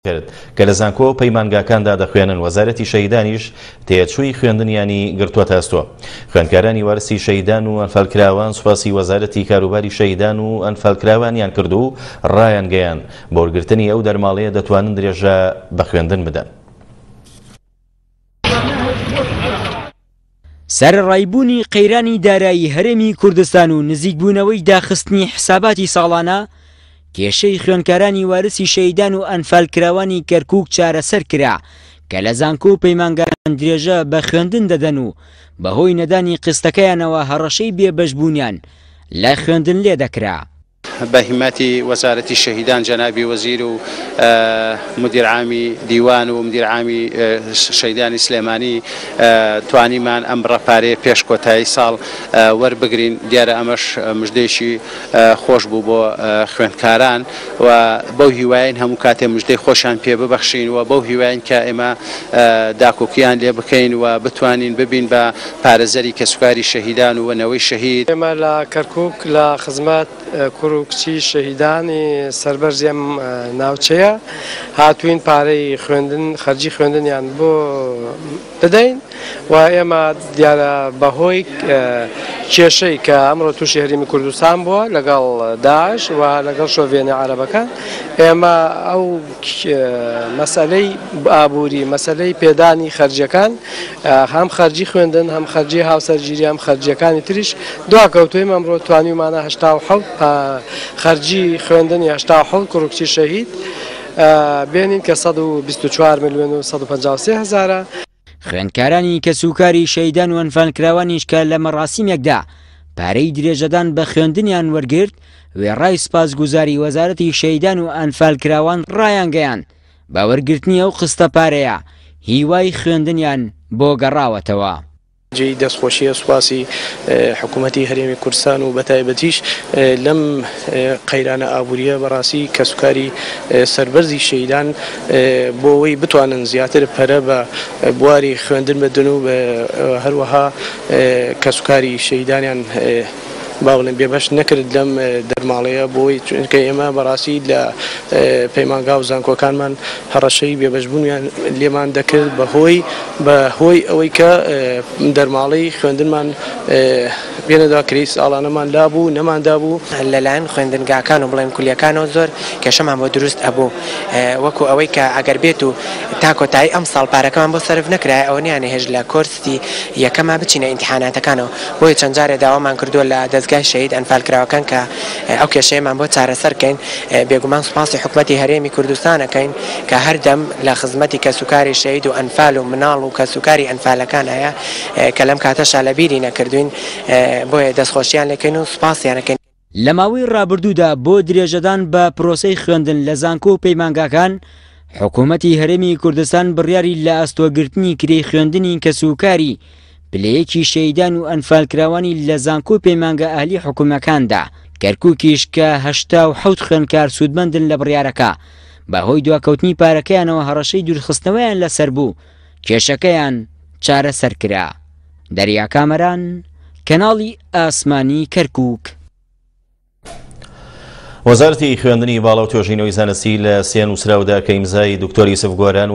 کرد کە لە زانکۆ و پەیمانگاکاندا دەخوێنن، وەزارەتی شەهیدانیش تێچووی خوێندنیانی گرتووەتە ئەستۆ. خوێندکارانی وارسی شەهیدان و ئەنفالکراوان سوپاسی وەزارەتی کاروباری شەهیدان و ئەنفالکراوانیان کرد و ڕایانگەیاند، بە وەرگرتنی ئەو دەرماڵەیە دەتوانن درێژە بە خوێندن بدەن. سەرەڕای بوونی قەیرانی دارایی هەرێمی کوردستان و نزیکبوونەوەی داخستنی حساباتی ساڵانە، کێشەی خوێندکارانی وارسی شەهیدان و ئەنفالکراوانی کەرکووک چارەسەر کرا کە لە زانکۆ و پەیمانگاکان درێژە بە خوێندن دەدەن و بەهۆی نەدانی قیستەکەیانەوە هەڕەشەی بێبەشبوونیان لە خوێندن لێدەکرا. بە هیمەتی وەزارەتی شەهیدان جەنابی وەزیر و مدیر عامی دیوان و مدیر عامی شەهیدانی سلێمانی توانیمان ئەم بڕە پارەیە پێش کۆتایی ساڵ وەربگرین، دیارە ئەمەش مژدەیەکی خۆش بوو بۆ خوێندکاران و بەو هیوایەین هەموو کاتێ مژدەی خۆشیان پێ ببەخشین و بەو هیواین کە ئێمە داکۆکییان لێ بکەین و بتوانین ببین بە پارێزەری کەسوکاری شەهیدان و نەوەی شەهید. ئێمە لە کەرکوک لە خزمەت کوڕ و کچی شەهیدانی سەربەرزی ئەم ناوچەیە هاتووین پارەی خوێندن خەرجی خوێندنیان بۆ بدەین و ئێمە دیارە بەهۆی کێشەی کە ئەمڕۆ تووشی هەرێمی کوردستان بووە لەگەڵ داعش و لەگەڵ شۆڤێنە عەرەبەکان ئێمە ئەو مەسەلەی ئابووری، مەسەلەی پێدانی خەرجیەکان، هەم خەرجی خوێندن، هەم خەرجی هاوسەرگیری، هەم خەرجیەکانی تریش دواکەوتووین، ئەمڕۆ توانیومانە 87 خەرجی خوێندنی 87 کوڕ و کچی شەهید بێنین کە 124 ملیۆن و 153 هەزارە. خوێندکارانی کەسوکاری شەهیدان و ئەنفالکراوانیش کە لە مەراسیمێکدا پارەی درێژەدان بە خوێندنیان وەرگرت، وێڕای سوپاسگوزاری وەزارەتی شەهیدان و ئەنفالکراوان ڕایانگەیاند، بە وەرگرتنی ئەو قستە پارەیە هیوای خوێندنیان بۆ گەڕاوەتەوە. جێی دەستخۆشییە سوپاسی حکوومەتی هەرێمی کوردستان و بەتایبەتیش لەم قەیرانە ئابوورییە بەڕاستی کەسوکاری سەربەرزی شەهیدان بۆ ئەوەی بتوانن زیاتر پەرە بە بواری خوێندن بدەن و هەروەها کەسوکاری شەهیدانیان با بڵێم بێبەش نەکرد لەم دەرماڵەیە بۆی چونکە ئێمە بەڕاستی لە پەیمانگا و زانکۆکانمان هەڕەشەی بێبەشبوونیان لێمان دەکرد بەهۆی بە هۆی ئەوەی کە دەرماڵەی خوێندنمان پێنەدا کرێی ساڵانەمان لابوو نەماندابوو. لەلایەن خوێندنگاکان و بڵێن کولیەکانەوە زۆر کێشەمان بۆ دروست ئەبوو وەکو ئەوەی کە ئەگەر بێت و تا کۆتایی ئەمساڵ پارەکەمان بۆ سەرف نەکرایە ئەوە نیانەهێشت لە کۆرسی یەکەما بچینە ئیمتیحاناتەکانەوە بۆیە چەند جارێ داوامان کردووە لە دەزگای شەهید ئەنفالکراوەکان کە ئەو کێشەیەمان بۆ چارەسەر کەین بێگومان سوپاسی حکومەتی هەرێمی کوردستان ئەکەین کە هەردەم لە خزمەتی کەسوکاری شەهید و ئەنفال و مناڵ و کەسوکاری ئەنفالەکانایە کە لەم کاتەشا لە بیری نەکردوین بۆیە دەستخۆشیان لێکەین و سوپاسیان ئەکەین. لە ماوەی ڕابردوودا بۆ درێژەدان بە پرۆسەی خوێندن لە زانکۆ و پەیمانگاکان، حکوومەتی هەرێمی کوردستان بڕیاری لە ئەستۆگرتنی کرێی خوێندنی کەسوکاری پلەیەکی شەهیدان و ئەنفالکراوانی لە زانکۆ و پەیمانگا ئەهلی حکومیەکاندا، کەرکوکیش کە 87 خوێندکار سوودمەندن لە بڕیارەکە، بەهۆی دواکەوتنی پارەکەیانەوە هەڕەشەی دوورخستنەوەیان لەسەر بوو، کێشەکەیان چارەسەر کرا. دەریا کامەران، کەناڵی ئاسمانی کەرکوک. وەزارەتی خوێندنی باڵا و توێژینەوەی زانستی لە سێ نووسراودا کە ئیمزای دکتۆر یوسف گۆران.